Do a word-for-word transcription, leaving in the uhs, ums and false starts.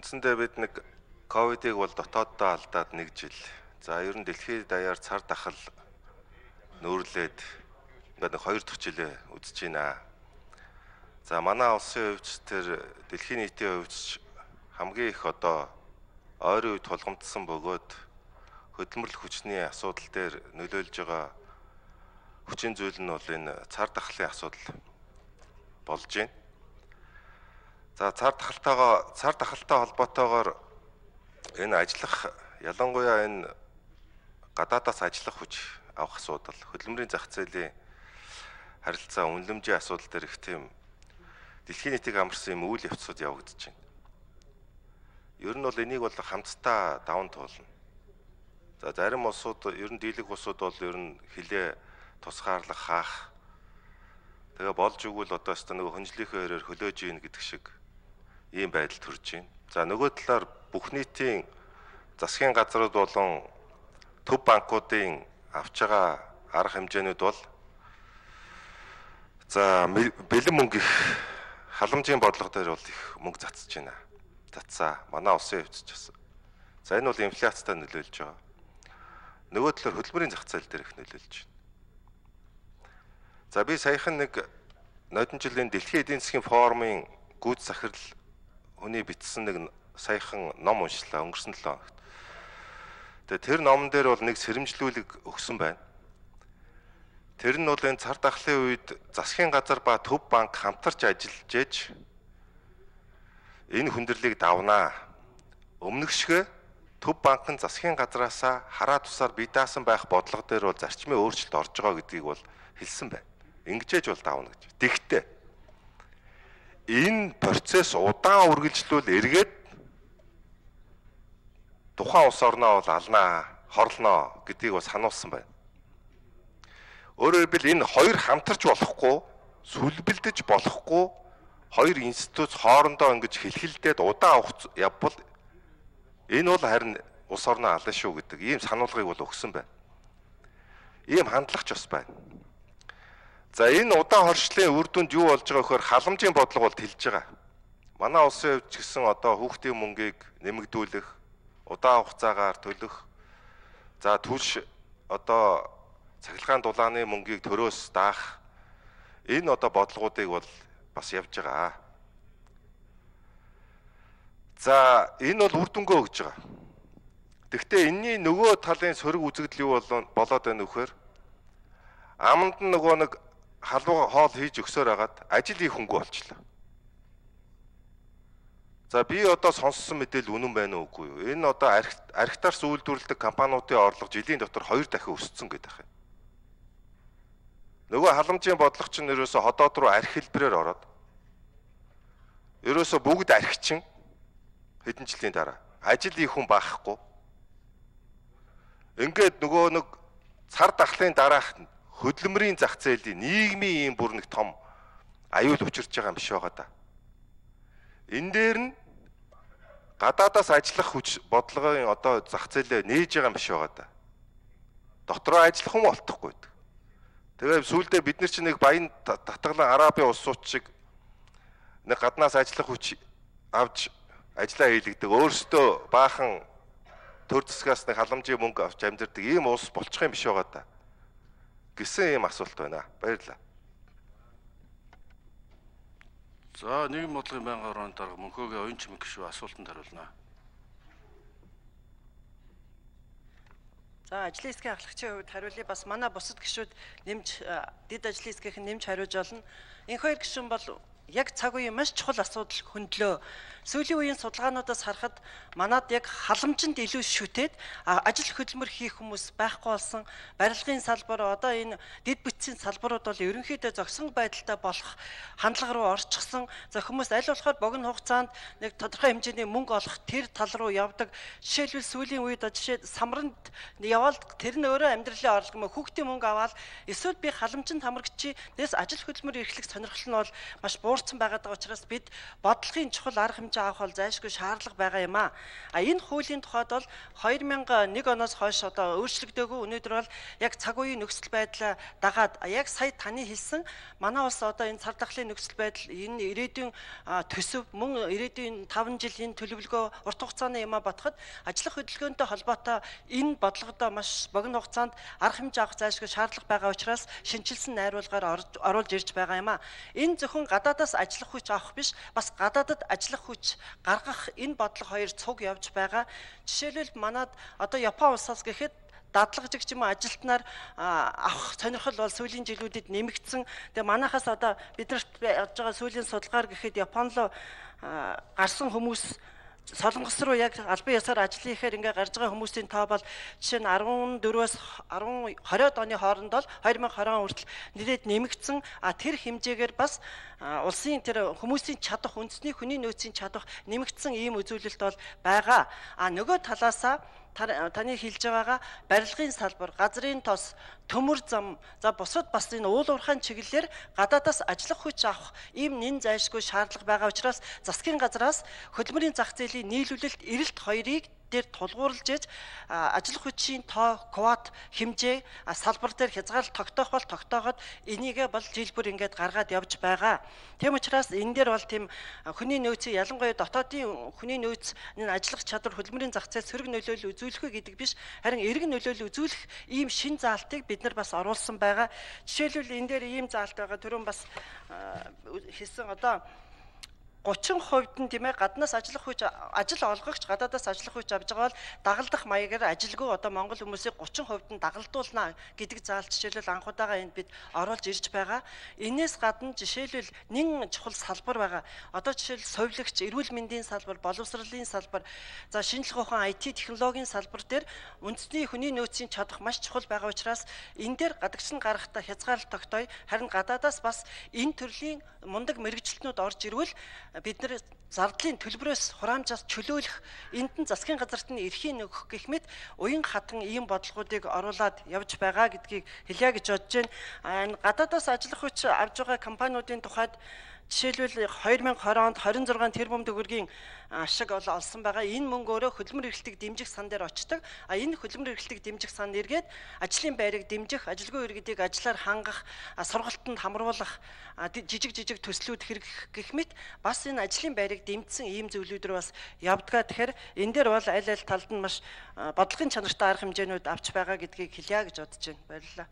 Үндсэндээ бид нэг ковидыг бол дотооддоо алдаад нэг жил. За ер нь дэлхийд даяар цар тахал нөөрлөөд ингээд нэг хоёр дахь жилээ үзэж байна. За манай улсын хувьд тэр дэлхийн нийтийн хувьд хамгийн их одоо ойрын үед тулгамдсан бөгөөд хөдөлмөрлөх хүчний асуудал дээр нөлөөлж байгаа хүчин зүйл нь бол энэ цар тахлын асуудал болж байна. За цар тахалтайгаа цар тахалтай холбоотойгоор энэ ажиллах ялангуяа энэ гадаадаас ажиллах хүч авах асуудал, хөдөлмөрийн зах зээлийн харилцаа үнэлэмжийн асуудал дээр их тийм дэлхийн нийтийг амарсан юм үйл явцууд явагдаж байна. Ер нь бол энийг бол хамтдаа даван туулна. За зарим улсууд ер нь дийлэх улсууд бол ер нь хилээ тусгаарлах хаах. Тэгээ болж игэл одоо ч нөгөө хөнжлийнхээ өрөөр хөлөөж ийн гэдэг шиг ийм байдал төрж байна. За нөгөө талаар бүх нийтийн засгийн газрууд болон төв банкуудын авч байгаа арга хэмжээнүүд бол за бэлэн мөнгө их халамжийн бодлого дээр бол их мөнгө цацж байна. Цацаа манай улсын хувьд ч гэсэн. За энэ бол инфляцтай нөлөөлж байгаа. Нөгөө талаар хөдөлмөрийн зах зээл дээр их нөлөөлж байна. За би саяхан нэг нодон жилийн дэлхийн эдийн засгийн форумын гүйц захирал хүний бичсэн нэг саяхан ном уншлаа өнгөрсөн долоо хоногт. Тэгээ тэр номон дээр бол нэг сэрэмжлүүлэг өгсөн байна. Тэр нь бол энэ цар тахлын үед засгийн газар ба төв банк хамтарч ажиллаж ээж энэ хүндрэлийг давнаа. Өмнөгшгөө төв банк нь засгийн газраасаа хараа тусаар бие даасан байх бодлого дээр бол зарчмын өөрчлөлт орж байгаа гэдгийг бол хэлсэн байна. Ингэжээж бол давна гэж. Тэгтээ энэ процесс удаан үргэлжлүүл эргээд тухайн улс орноо бол алнаа, хорлноо гэдгийг бас сануулсан байна. Өөрөөр хэлбэл энэ хоёр хамтарч болохгүй, сүлбэлдэж болохгүй хоёр институт хоорондоо ингэж хэлхэлдээд удаан хугацаа явбал энэ бол харин улс орноо ална шүү гэдэг ийм сануулгыг бол өгсөн байна. Ийм хандлагч бас байна. За энэ удаан хоршлын үр дүнд юу болж байгаа вөхөр халамжийн бодлого бол тэлж байгаа. Манай улсын хувьд ч гэсэн одоо хүүхдийн мөнгийг нэмэгдүүлэх, удаан хугацаагаар төлөх, за түлш одоо цахилгаан дулааны мөнгийг төрөөс даах энэ одоо бодлогоодыг бол бас явж байгаа. За энэ бол үр дүнгээ өгж байгаа. Гэхдээ энэний нөгөө талын сөрөг үзэгдэл юу болоод байна вөхөр аманд нь нөгөө нэг халуун хоол хийж өгсөөр хагаад ажил хийх хөнгө болчлоо. За би одоо сонссон мэдээлэл үнэн байна уу үгүй юу? Энэ одоо архитектар үйлдвэрлэдэг компаниудын орлого жилийн дотор хоёр дахин өссөн гэдэг юм. Нөгөө халамжийн бодлого чинь ерөөсө ходоод руу архи хэлбэрээр ороод ерөөсө бүгд архичин хэдэн жилийн дараа ажил хийх хүн баахгүй. Ингээд нөгөө нэг цар тахлын дараах хөдөлмөрийн зах зээлийн нийгмийн ийм бүр нэг том аюул учирч байгаа юм биш байгаа да. Энэ дээр нь гадаадаас ажиллах хүч бодлогын одоо зах зээлээ нээж байгаа юм биш байгаа да. Дотроо ажиллах хүн болтохгүй. Тэгээ сүүлдээ бид нар чинь нэг баян татгалан Арабын улсууд шиг нэг гаднаас ажиллах хүч авч ажиллаа хийлгдэг. Өөрсдөө баахан төр засгаас нэг халамжийн мөнгө авч амьдэрдэг ийм улс болчих юм биш байгаа да. Гэсэн ийм асуулт байна. Баярлалаа. За нийгэм бодлогын байнгын хорооны дарга Мөнхөөгийн оюун чимэг гишүүн асуултанд хариулна. За ажлын хэсгийн ахлагчийн хувьд хариулъя бас манай бусад гишүүд нэмж дэд ажлын хэсгийнхэн нэмж хариулж олно. Энэ хоёр гишүүн бол яг цаг үеийн маш чухал асуудал хөндлөө. Сүүлийн үеийн судалгаануудаас харахад манад яг халамжинд илүү шүтээд ажил хөдөлмөр хийх хүмүүс байхгүй болсон. Барилгын салбар одоо энэ дэд бүтцийн салбарууд бол ерөнхийдөө зогсон байдалтай болох хандлага руу орчихсон. За хүмүүс аль болохоор богино хугацаанд нэг тодорхой хэмжээний мөнгө олох тэр тал руу явдаг. Жишээлбэл сүүлийн үед жишээ самранд яваад тэр нь өөрөө амьдралын орлого мө хүүхдийн мөнгө аваад эсвэл би халамжинд хамрагчи дэс ажил хөдөлмөр эрхлэх сонирхол нь бол маш буур буурсан байгаа учраас бид бодлогын чухал арга хэмжээ авах бол зайлшгүй шаардлага байгаа юм а. А энэ хуулийн тухайд бол хоёр мянган нэг оноос хойш одоо өөрчлөгдөөгүй. Өнөөдөр бол яг цаг үеийн нөхцөл байдлаа дагаад яг сая таны хэлсэн манай улс одоо энэ цар тахлын нөхцөл байдал энэ ирээдүйн төсөв мөн ирээдүйн таван жилийн төлөвлөгөө урт хугацааны юм а батхад ажлах хөдөлгөөнтэй холбоотой энэ бодлогодоо маш богино хугацаанд арга хэмжээ авах зайлшгүй шаардлага байгаа учраас шинжилсэн найруулгаар оруулж ирж байгаа юм а. Энэ зөвхөн гадаадаас ажиллах хүч авах биш, бас гадаадад ажиллах хүч гаргах энэ бодлого хоёр цуг явж байгаа. Жишээлбэл манад одоо Япон улсаас гэхэд дадлагжигч юм ажилтнаар авах сонирхол бол сүүлийн жилүүдэд нэмэгдсэн. Тэгээ манайхаас одоо биднэрт явж байгаа сүүлийн судалгаар гэхэд Япон руу гарсан хүмүүс Солонгос руу яг албан ёсоор ажлын ихээр ингээ гарч байгаа хүмүүсийн тоо бол жишээ нь арван дөрвөөс двадцать оны хооронд бол две тысячи двадцать хүртэл нэлээд нэмэгдсэн. А тэр хэмжээгээр бас улсын тэр хүмүүсийн чадах, үндэсний хүний нөөцийн чадах нэмэгдсэн ийм үзүүлэлт бол байгаа. А нөгөө талаасаа таны хэлж байгаагаа барилгын салбар, газрын тос, төмөр зам, за бусад бас энэ уул уурхайн чиглэлээр гадаадаас ажиллах хүч авах ийм нэн зайлшгүй шаардлага байгаа учраас засгийн газраас хөдөлмөрийн зах зээлийн нийлүүлэлт эрэлт хоёрыг дээр тулгуурлаж ээж ажиллах хүчийн тоо квот хэмжээ салбар дээр хязгаарлалт тогтоох бол тогтооход энийгээ бол жил бүр ингээд гаргаад явж байгаа. Тийм учраас энэ дээр бол тийм хүний нөөцийн ялангуяа дотоодын хүний нөөц энэ ажиллах чадвар хөдөлмөрийн зах зээл сөрөг нөлөөлөл үзүүлэх гэдэг биш, харин эргэн нөлөөлөл үзүүлэх ийм шин заалтыг бид нар бас оруулсан байгаа. Жишээлбэл энэ дээр ийм заалт байгаа. Түрүүн бас хэлсэн одоо thirty хувьд нь тийм ээ гаднаас ажиллах хүч ажил олгогч гадаадаас ажиллах хүч авж байгаа бол дагалдах маягаар ажилгүй одоо монгол хүмүүсийг thirty хувьд нь дагалдуулна гэдэг заалт жишээлбэл анхудаага энд бид оруулж ирж байгаа. Энээс гадна жишээлбэл нэн чухал салбар байгаа. Одоо жишээл совилогч, эрүүл мэндийн салбар, боловсролын салбар, за шинжлэх ухаан ай ти технологийн салбар дээр үндэсний хүний нөөцийн чадах маш чухал байгаа учраас энэ дээр гадагш нь гарахтаа хязгаарлалт тогтоё. Харин гадаадаас бас энэ төрлийн мундаг мэрэгчлэтнүүд орж ирвэл бид нар зардлын төлбөрөөс хураамжаас чөлөөлөх энд нь засгийн газарт нь эрхийн өгөх гэх мэт уян хатан ийм бодлогуудыг оруулаад явж байгаа гэдгийг хэлье гэж бодож байна. Гадаадаас ажиллах хүч авж байгаа компаниудын тухайд жишээлбэл twenty twenty онд twenty-six тэрбум төгрөгийн ашиг олсон байгаа. Энэ мөнгө өөрөө хөдөлмөр эрхлэлтийг дэмжих сан дээр очдог. А энэ хөдөлмөр эрхлэлтийг дэмжих сан нэргээд ажлын байрыг дэмжих, ажилгүй иргэдийг ажлаар хангах, сургалтанд хамруулах, жижиг жижиг төслүүд хэрэглэх гэх мэт бас энэ ажлын байрыг дэмжсэн ийм зөвлөдөр бас явдгаа. Тэгэхээр энэ дээр бол аль аль талд нь маш бодлогын чанартай арга хэмжээнүүд авч байгаа гэдгийг хэлье гэж бодож байна. Баярлалаа.